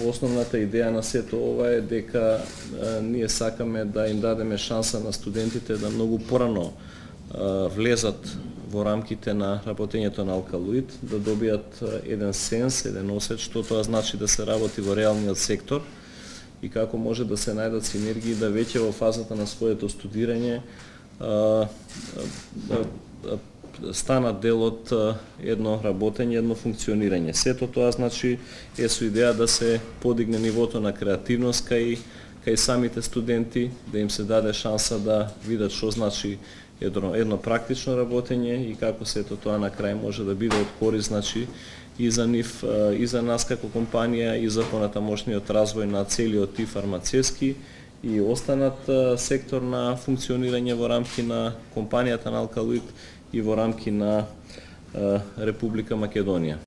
Основната идеја на сето ова е дека ние сакаме да им дадеме шанса на студентите да многу порано влезат во рамките на работењето на алкалоид, да добијат еден сенс, еден осет што тоа значи да се работи во реалниот сектор и како може да се најдат синергии да веќе во фазата на своето студирање станат дел од едно работење, едно функционирање. Сето тоа значи е со идеја да се подигне нивото на креативност кај самите студенти, да им се даде шанса да видат што значи едно практично работење и како сето тоа на крај може да биде од корист, значи и за нив, и за нас како компанија, и за понатамошниот развој на целиот и фармацевски и останат сектор на функционирање во рамки на компанијата на алкалоид и во рамки на Република Македонија.